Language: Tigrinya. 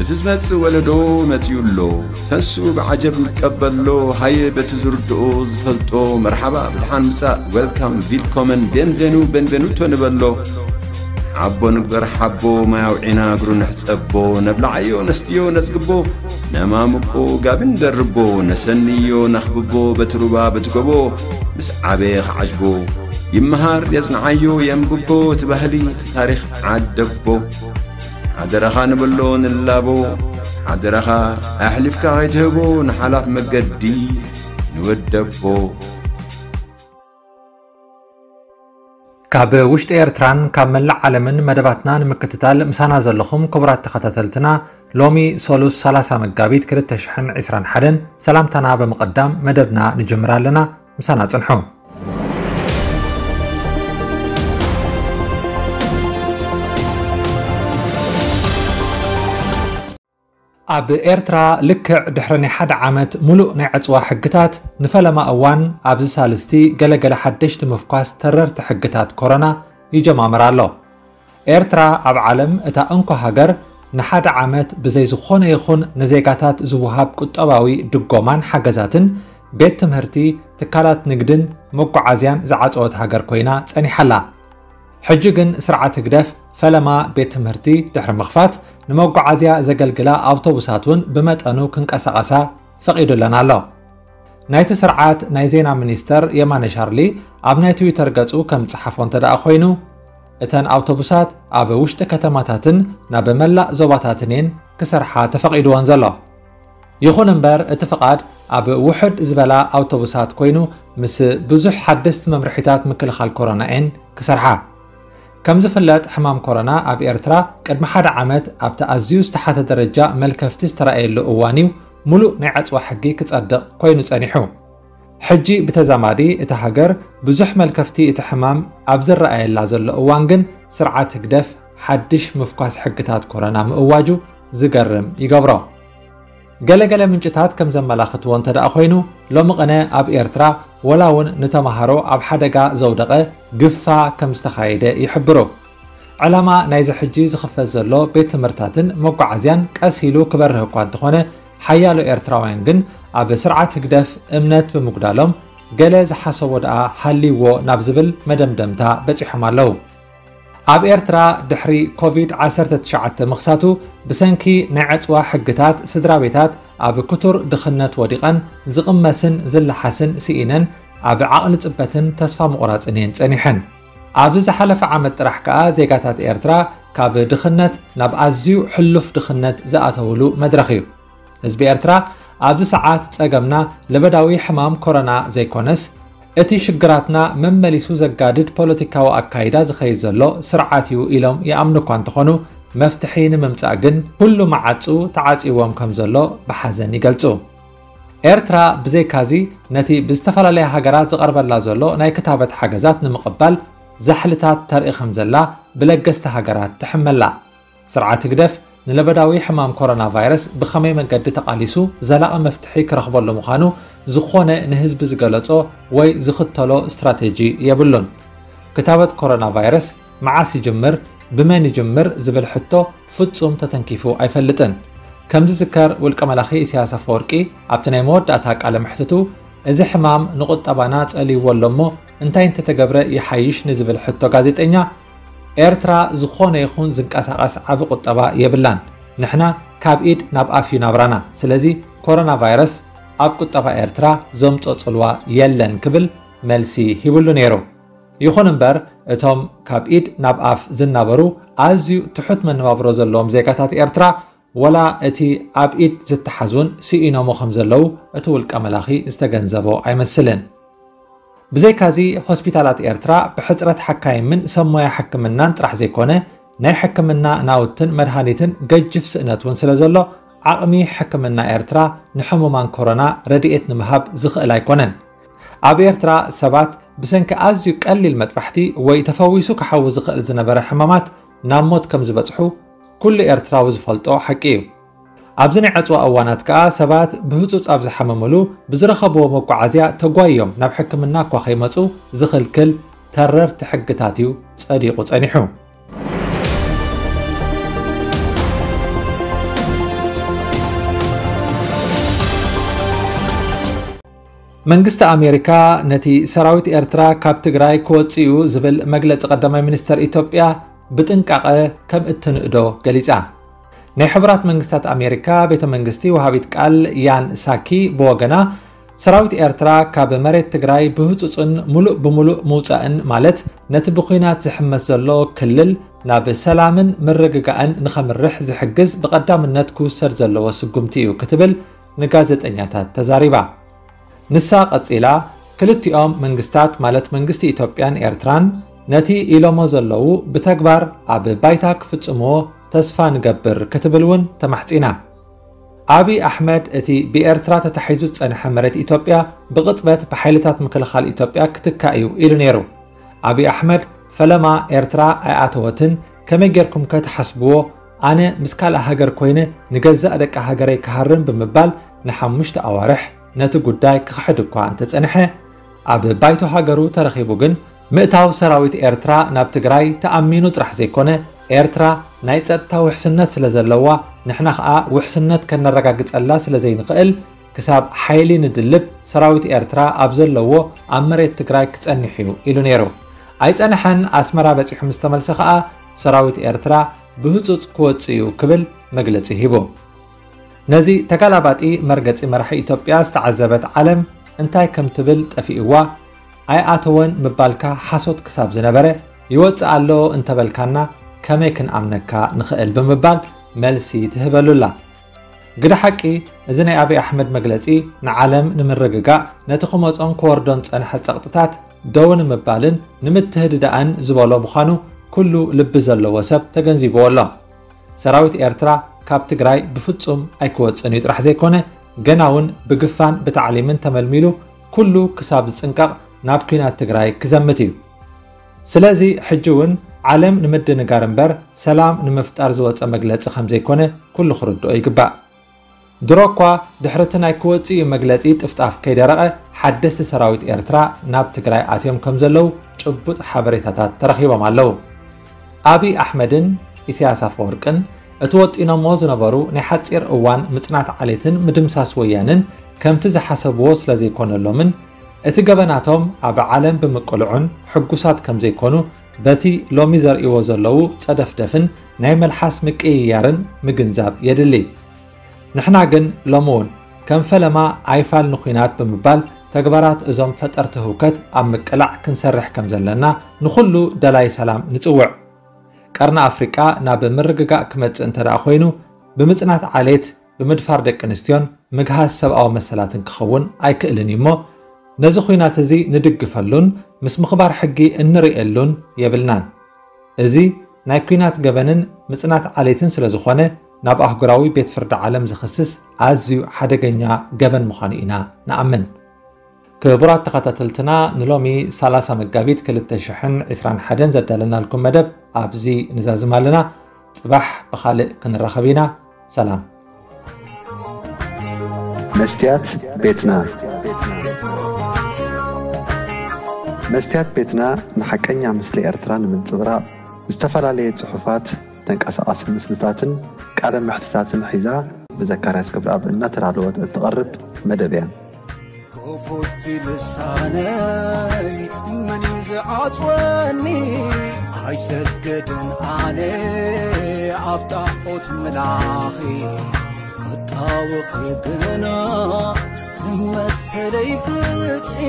እቲ ዝመጽእ ወለዶ መጺኡ ኣሎ። ተንስኡ ብዓጀብ ንቀበሎ። ሃየ በቲ ዝርድኦ ዝፈልጦ መርሓባ ብድሓን ምጻእ፣ ዌልካም፣ ቪልኮመን፣ ቤንቬኑ፣ ቤንቬኑቶ ንበሎ። ሓቦ ንግበር ሓቦ፣ ማይ ኣውዒና እግሩ ንሕጸቦ። ነብልዓዮ ነስትዮ ነጽግቦ፣ ነማምቆ ጋቢ ንደርቦ። ነሰንዮ ነኽብቦ በቲ ሩባ በቲ ጎቦ። ምስ ዓበየ ክዓጅቦ ይመሃር የጽንዓዮ የንብቦ። እቲ ባህሊ እቲ ታሪኽ ዓደቦ። ሓደራኻ ንብሎ ንላቦ። ሓደራኻ ኣሕሊፍካ ከይትህቦ ንሓላፍ መገዲ ንወደቦ። ካብ ውሽጢ ኤርትራን ካብ መላእ ዓለምን መደባትና ንምክትታል ምሳና ዘለኹም ክቡራት ተኸታተልትና፣ ሎሚ ሰሉስ ሰላሳ መጋቢት ክልተ ሽሕን ዕስራን ሓደን ሰላምታና ብምቕዳም መደብና ንጅምር ኣለና። ምሳና ጽንሑ። ኣብ ኤርትራ ልክዕ ድሕሪ ናይ ሓደ ዓመት ሙሉእ ናይ ዕጽዋ ሕግታት፣ ንፈለማ እዋን ኣብዚ ሳልስቲ ገለገለ ሓደሽቲ ምፍኳስ ተረርቲ ሕግታት ኮሮና ይጀማምር ኣሎ። ኤርትራ ኣብ ዓለም እታ እንኮ ሃገር ንሓደ ዓመት ብዘይ ዝኾነ ይኹን ንዜጋታት ዝወሃብ ቁጠባዊ ድጎማን ሓገዛትን ቤት ትምህርቲ፣ ትካላት ንግድን መጓዓዝያን ዝዓጸወት ሃገር ኮይና ጸኒሓ ኣላ። ሕጂ ግን ስርዓት ህግደፍ ፈለማ ቤት ትምህርቲ ድሕሪ ምኽፋት ንመጓዓዝያ ዘገልግላ ኣውቶቡሳት እውን ብመጠኑ ክንቀሳቐሳ ፈቒዱለን ኣሎ። ናይቲ ስርዓት ናይ ዜና ሚኒስተር የማነ ሻርሊ ኣብ ናይ ትዊተር ገጹ ከም ዝጸሓፎ እንተ ደኣ ኮይኑ፣ እተን ኣውቶቡሳት ኣብ ውሽጢ ከተማታትን ናብ መላእ ዞባታትን እየን ክሰርሓ ተፈቒድወን ዘሎ። ይኹን እምበር፣ እቲ ፍቓድ ኣብ ውሑድ ዝበላ ኣውቶቡሳት ኮይኑ፣ ምስ ብዙሕ ሓደስቲ መምርሒታት ምክልኻል ኮሮና እየን ክሰርሓ። ከም ዝፍለጥ፣ ሕማም ኮሮና ኣብ ኤርትራ ቅድሚ ሓደ ዓመት ኣብቲ ኣዝዩ ዝተሓተ ደረጃ መልከፍቲ ዝተራእየሉ እዋን እዩ፣ ሙሉእ ናይ ዕጽዋ ሕጊ ክጸድቕ ኮይኑ ጸኒሑ። ሕጂ ብተዛማዲ እታ ሃገር ብዙሕ መልከፍቲ እቲ ሕማም ኣብ ዝረኣየላ ዘሎ እዋን ግን፣ ስርዓት ህግደፍ ሓድሽ ምፍኳስ ሕግታት ኮሮና ምእዋጁ ዝገርም ይገብሮ። ገለገለ ምንጭታት ከም ዘመላኽትዎ እንተ ደኣ ኮይኑ፣ ሎሚ ቅነ ኣብ ኤርትራ ወላ እውን ንተማሃሮ ኣብ ሓደጋ ዘውደቐ ግፋ ከም ዝተኻየደ ይሕብሩ። ዕላማ ናይዚ ሕጂ ዝኽፈት ዘሎ ቤት ትምህርታትን መጓዓዝያን ቀስ ኢሉ ክበርህ እኳ እንተኾነ፣ ሓያሎ ኤርትራውያን ግን ኣብ ስርዓት ህግደፍ እምነት ብምጉዳሎም፣ ገለ ዝሓሰቦ ደኣ ሃልይዎ ናብ ዝብል መደምደምታ በጺሖም ኣለዉ። ኣብ ኤርትራ ድሕሪ ኮቪድ ዓሰርተ ትሽዓተ ምኽሳቱ፣ ብሰንኪ ናይ ዕጽዋ ሕግታት፣ ስድራ ቤታት ኣብ ክቱር ድኽነት ወዲቐን ዝቕመስን ዝለሓስን ስኢነን ኣብ ዓቕሊ ጽበትን ተስፋ ምቑራጽን እየን ጸኒሐን። ኣብዚ ዝሓለፈ ዓመት ጥራሕ ከኣ ዜጋታት ኤርትራ ካብ ድኽነት ናብ ኣዝዩ ሕሉፍ ድኽነት ዝኣተውሉ መድረኽ እዩ። ህዝቢ ኤርትራ ኣብዚ ሰዓት ጸገምና ለበዳዊ ሕማም ኮሮና ዘይኮነስ፣ እቲ ሽግራትና መመሊሱ ዘጋድድ ፖለቲካዊ ኣካይዳ ዝኸይድ ዘሎ ስርዓት እዩ ኢሎም ይኣምኑ እኳ እንተኾኑ፣ መፍትሒ ንምምጻእ ግን ኩሉ መዓጹ ተዓጺዎም ከም ዘሎ ብሓዘን ይገልጹ። ኤርትራ ብዘይካዚ ነቲ ብዝተፈላለያ ሃገራት ዝቐርበላ ዘሎ ናይ ክታበት ሓገዛት ንምቕባል ዛሕልታት ተርኢ ከም ዘላ ብለገስቲ ሃገራት ትሕመላ። ስርዓት ህግደፍ ንለበዳዊ ሕማም ኮሮና ቫይረስ ብኸመይ መገዲ ተቓሊሱ ዘላቒ መፍትሒ ክረኽበሉ ምዃኑ ዝኾነ ንህዝቢ ዝገለጾ ወይ ዝኽተሎ ስትራቴጂ የብሉን። ክታበት ኮሮና ቫይረስ መዓስ ይጅምር፣ ብመን ይጅምር ዝብል ሕቶ ፍጹም ተተንኪፉ ኣይፈልጥን። ከም ዝዝከር፣ ውልቀ መላኺ ኢሳያስ ኣፈወርቂ ኣብቲ ናይ መወዳእታ ቃለ መሕትቱ፣ እዚ ሕማም ንቁጠባና ጸልይዎ ኣሎ እሞ እንታይ እንተተገብረ ይሓይሽ ንዝብል ሕቶ ጋዜጠኛ፣ ኤርትራ ዝኾነ ይኹን ዝንቀሳቐስ ዓቢ ቁጠባ የብላን። ንሕና ካብ ኢድ ናብ ኣፍ እዩ ናብራና። ስለዚ ኮሮና ቫይረስ ኣብ ቁጠባ ኤርትራ ዘምጾ ጽልዋ የለን ክብል መልሲ ሂብሉ ነይሩ። ይኹን እምበር፣ እቶም ካብ ኢድ ናብ ኣፍ ዝናበሩ ኣዝዩ ትሑት መነባብሮ ዘለዎም ዜጋታት ኤርትራ፣ ወላ እቲ ኣብ ኢድ ዝተሓዙን ስኢኖሞ ከም ዘለዉ እቲ ውልቀ መላኺ ዝተገንዘቦ ኣይመስልን። ብዘይካዚ፣ ሆስፒታላት ኤርትራ ብሕጽረት ሓካይምን ሰብ ሞያ ሕክምናን ጥራሕ ዘይኮነ፣ ናይ ሕክምና ናውትን መድሃኒትን ገጅፍ ስእነት እውን ስለ ዘሎ፣ ዓቕሚ ሕክምና ኤርትራ ንሕሙማን ኮሮና ረድኤት ንምሃብ ዝኽእል ኣይኮነን። ኣብ ኤርትራ ሰባት ብሰንኪ ኣዝዩ ቀሊል መጥባሕቲ ወይ ተፈዊሱ ክሓዊ ዝኽእል ዝነበረ ሕማማት ናብ ሞት ከም ዝበጽሑ ኩሉ ኤርትራዊ ዝፈልጦ ሓቂ እዩ። ኣብዚ ናይ ዕጽዋ እዋናት ከኣ ሰባት ብህጹጽ ኣብ ዝሓመምሉ ብዝረኸብዎ መጓዓዝያ ተጓዮም ናብ ሕክምና እኳ ከይመጹ ዝኽልክል ተረርቲ ሕግታት እዩ ጸዲቑ ጸኒሑ። መንግስቲ ኣሜሪካ ነቲ ሰራዊት ኤርትራ ካብ ትግራይ ክወጽእ እዩ ዝብል መግለጺ ቀዳማይ ሚኒስተር ኢትዮጵያ ብጥንቃቐ ከም እትንእዶ ገሊጻ። ናይ ሕቡራት መንግስታት ኣሜሪካ ቤተ መንግስቲ ወሃቢት ቃል ያን ሳኪ ብወገና፣ ሰራዊት ኤርትራ ካብ መሬት ትግራይ ብህጹጽን ሙሉእ ብሙሉእ ምውጻእን፣ ማለት ነቲ ብኹናት ዝሕመስ ዘሎ ክልል ናብ ሰላምን ምርግጋእን ንኸምርሕ ዝሕግዝ ብቐዳምነት ክውሰድ ዘለዎ ስጉምቲ እዩ ክትብል ንጋዜጠኛታት ተዛሪባ። ንሳ ቀጺላ፣ ክልቲኦም መንግስታት፣ ማለት መንግስቲ ኢትዮጵያን ኤርትራን፣ ነቲ ኢሎሞ ዘለዉ ብተግባር ኣብ ባይታ ክፍጽምዎ ተስፋ ንገብር ክትብል እውን ተማሕጺና። ኣብይ ኣሕመድ እቲ ብኤርትራ ተታሒዙ ዝጸንሐ መሬት ኢትዮጵያ ብቕጽበት ብሓይልታት ምክልኻል ኢትዮጵያ ክትካእ እዩ ኢሉ ነይሩ። ኣብይ ኣሕመድ ፈለማ ኤርትራ ኣይኣተወትን፣ ከመይ ጌርኩም ከ ትሓስብዎ? ኣነ ምስ ካልእ ሃገር ኮይነ ንገዛእ ደቂ ሃገረይ ክሃርም ብምባል ንሓሙሽተ ኣዋርሕ ነቲ ጉዳይ ክኽሕድ እኳ እንተጸንሐ፣ ኣብ ባይቶ ሃገሩ ተረኺቡ ግን ምእታው ሰራዊት ኤርትራ ናብ ትግራይ ተኣሚኑ ጥራሕ ዘይኮነ፣ ኤርትራ ናይ ጸጥታ ውሕስነት ስለ ዘለዋ፣ ንሕና ኸኣ ውሕስነት ከነረጋግጸላ ስለ ዘይንኽእል፣ ክሳብ ሓይሊ ንድልብ ሰራዊት ኤርትራ ኣብ ዘለዎ ኣብ መሬት ትግራይ ክጸንሕ እዩ ኢሉ ነይሩ። ኣይጸንሐን፣ ኣስመራ በጺሑ ምስ ተመልሰ ኸኣ ሰራዊት ኤርትራ ብህጹጽ ክወጽእ እዩ ክብል መግለጺ ሂቡ። ነዚ ተጋላባጢ መርገጺ መራሒ ኢትዮጵያ ዝተዓዘበት ዓለም እንታይ ከም ትብል ጠፊእዋ፣ ኣይኣተወን ምባልካ ሓሶት ክሳብ ዝነበረ፣ ይወጽእ ኣሎ እንተበልካና ከመይ ክንኣምነካ ንኽእል ብምባል መልሲ ትህበሉላ። ግደ ሓቂ፣ እዚ ናይ ኣብይ ኣሕመድ መግለጺ ንዓለም ንምርግጋእ፣ ነቲ ክመጾን ክወርዶን ጸንሐ ጸቕጥታት ደው ንምባልን ንምትህድዳእን ዝበሎ ምዃኑ ኩሉ ልቢ ዘለዎ ሰብ ተገንዚብዎ ኣሎ። ሰራዊት ኤርትራ ካብ ትግራይ ብፍጹም ኣይክወጽእን እዩ ጥራሕ ዘይኮነ፣ ገና እውን ብግፋን ብታዕሊምን ተመልሚሉ ኩሉ ክሳብ ዝጽንቀቕ ናብ ኲናት ትግራይ ክዘምት እዩ። ስለዚ ሕጂ እውን ዓለም ንምድንጋር እምበር ሰላም ንምፍጣር ዝወጸ መግለጺ ከም ዘይኮነ ኩሉ ክርድኦ ይግባእ። ድሮ እኳ ድሕሪ እቲ ናይ ክወጽእ እዩ መግለጺ ጥፍጣፍ ከይደረቐ ሓደስቲ ሰራዊት ኤርትራ ናብ ትግራይ ኣትዮም ከም ዘለዉ ጭቡጥ ሓበሬታታት ተረኺቦም ኣለዉ። ኣብይ ኣሕመድን ኢሳያስ ኣፈወርቅን እቲ ወጢኖሞ ዝነበሩ ናይ ሓጺር እዋን ምጽናት ዓሌትን ምድምሳስ ወያንን ከምቲ ዝሓሰብዎ ስለ ዘይኮነሎምን፣ እቲ ገበናቶም ኣብ ዓለም ብምቅልዑን ሕጉሳት ከም ዘይኮኑ በቲ ሎሚ ዘርእይዎ ዘለዉ ጸደፍደፍን ናይ መልሓስ ምቅይያርን ምግንዛብ የድሊ። ንሕና ግን ሎሚ እውን ከም ፈለማ ኣይፋል ንኹናት ብምባል ተግባራት እዞም ፈጠርቲ ህውከት ኣብ ምቅላዕ ክንሰርሕ ከም ዘለና ንኹሉ ደላይ ሰላም ንጽውዕ። ቀርኒ ኣፍሪቃ ናብ ምርግጋእ ክመጽእ እንተ ደኣ ኮይኑ፣ ብምጽናት ዓሌት፣ ብምድፋር ደቂ ኣንስትዮን ምግሃስ ሰብኣዊ መሰላትን ክኸውን ኣይክእልን እዩ እሞ፣ ነዚ ኹናት እዚ ንድግፈሉን ምስ ምኽባር ሕጊ እንርእየሉን የብልናን። እዚ ናይ ኲናት ገበንን ምጽናት ዓሌትን ስለ ዝኾነ፣ ናብ ኣህጉራዊ ቤት ፍርዲ ዓለም ዝኽስስ ኣዝዩ ሓደገኛ ገበን ምዃኑ ኢና ንኣምን። ክቡራት ተኸታተልትና፣ ንሎሚ ሰላሳ መጋቢት ክልተ ሽሕን ዕስራን ሓደን ዘዳለናልኩም መደብ ኣብዚ ንዛዝም ኣለና። ጽባሕ ብኻልእ ክንራኸብ ኢና። ሰላም። መስትያት ቤትና። መስትያት ቤትና ንሓቀኛ ምስሊ ኤርትራ ንምንጽብራቕ፣ ዝተፈላለየ ጽሑፋት፣ ተንቀሳቓሲ ምስልታትን ቃለ መሕትታትን ሒዛ ብዘካርያስ ገብረኣብ እናተዳለወት እትቐርብ መደብ እያ። ክፉት ልሳነይ መን እዩ ዝዓጽወኒ? ኣይሰግድን ኣነ ኣብ ጣዖት ምላኺ፣ ክጣወኺ ግና ንመሰለይ ፍትሒ።